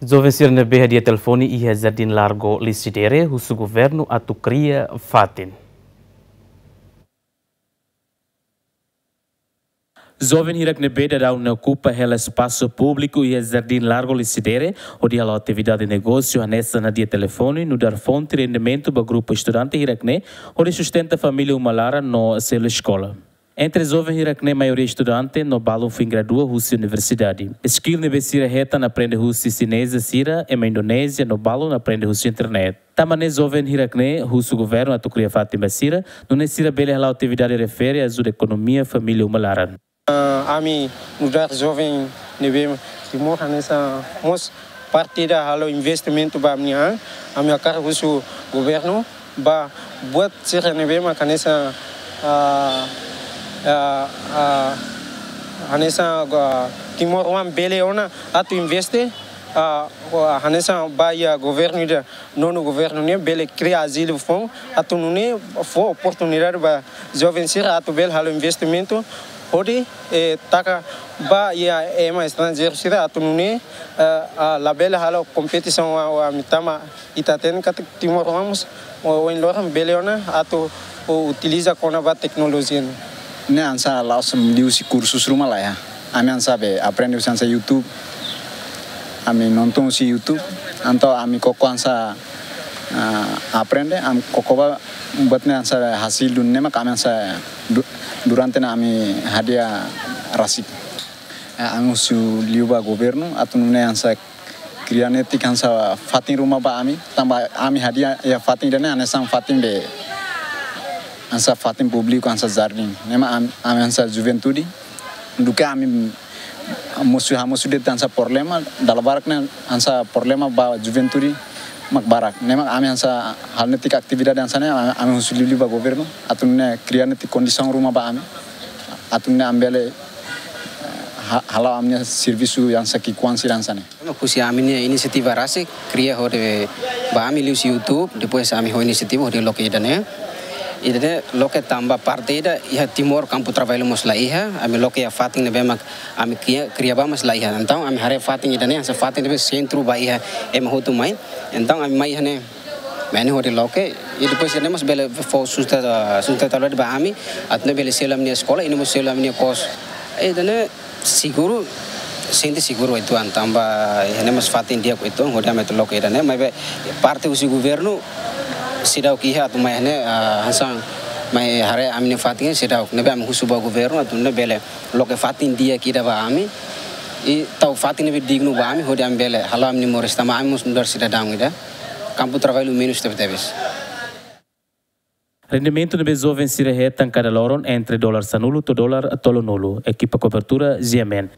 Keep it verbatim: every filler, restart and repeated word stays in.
Joven sira ne'ebé hadia telefone iha Jardim Largo Lecidere husu governu atu kria fatin. Joven hirak ne'ebé daudaun ne'e okupa hela espasu públiku iha Jardim Largo Lecidere, hodi hala'o atividade negósiu hanesan hadia telefone, nu'udar fonte rendimentu ba grupu estudante hirak ne'e, hodi sustenta família uma laran no selu eskola. Entre joven hirak ne'e maioria estudante no balun foin gradua husi universidade. Skill ne'ebé sira hetan aprende husi xineza sira, ema Indonézia no balun aprende husi internet. Tanba ne'e joven hirak ne'e husu governu atu kria fatin ba sira, nune'e sira bele hala'o atividade refere ajuda ekonomia família uma laran. Ah, ami nu'udar joven ne'ebé Timor hanesan mós parte ida halo investimentu ba ami-nia an, ami hakarak husu governu ba buat sira ne'ebé mak hanesan, ah, ah, ah, hanesan, ah, timoroan bele ona atu investe, ah, hanesan ba iha governu ida, nonu governu ne'e bele kria azilu foun atu nune'e fó oportunidade ba joven sira atu bele halo investimentu hodi, eh, taka ba iha ema estranjeiru sira atu nune'e, eh, ah, labele halo kompetisaun ho ami tanba ita hatene katak timoroan mós ohin loron bele ona atu utiliza kona-ba teknolojia ne'e. Ne'e hanesan la'ós liuhusi kursus ruma laiha. Ami hanesan be aprende husi hanesan YouTube. Ami nonton husi YouTube. Entaun ami koko hanesan, ah, aprende, ami koko ba buat ne'e hanesan hasil duni ne'e mak ami hanesan du-, durante ne'e ami hadi'a rasik. Eh, ami husu liu ba governu atu nune'e hanesan kria netik hanesan fatin ruma ba ami, tanba ami hadi'a iha fatin ida-ne'e hanesan fatin be hanesan fatin públiku hanesan jardín. Ne'e mak am-, ami hanesan juventude, duké ami mosu, hamosu de'it hanesan problema, dala barak ne'e hanesan problema ba juventude mak barak. Ne'e mak ami hanesan halo netik atividade hanesan ne'e, ami, ami husu liu ba governu atu nune'e kria netik kondisaun ruma ba ami atu nune'e ami bele ha-, hala'o ami-nia servisu hanesan ki'ikoan sira hanesan ne'e. Husi ami-nia inisiativa rasik, kria hodi ba ami liuhusi YouTube, depois ami ho inisiativa hodi loke ida-ne'e. Ida-ne'e loke tanba parte ida iha Timor kampu traballu mós laiha, ami loke iha fatin ne'ebé mak ami kria, kria ba mós laiha. Entaun ami haree fatin ida-ne'e hanesan fatin ne'ebé sentru ba iha ema hotu mai. Entaun ami mai iha ne'e, mai ne'e hodi loke, i depois ida-ne'e mós bele fó sustenta, sustentabilidade ba ami, atu nune'e bele selu ami-nia eskola, i nune'e mós selu ami-nia kos. Ida-ne'e seguru, sente seguru uitoan, tanba iha ne'e mós fatin di'ak uitoan, hodi ami atu loke ida-ne'e, maibé parte husi governu seidauk iha atu mai iha ne'e, ah, hanesan mai haree ami-nia fatin seidauk, ne'ebé ami husu ba governu atu nune'e bele loke fatin di'ak ida ba ami, i tau fatin ne'ebé dignu ba ami, hodi ami bele hala'o ami-nia moris tanba ami mós nu'udar sidadaun ida, kampu traballu menus tebetebes. Rendimentu ne'ebé joven sira hetan kada loron entre dolar sanulu to'o dolar tolunulu. Ekipa kobertura, G M N.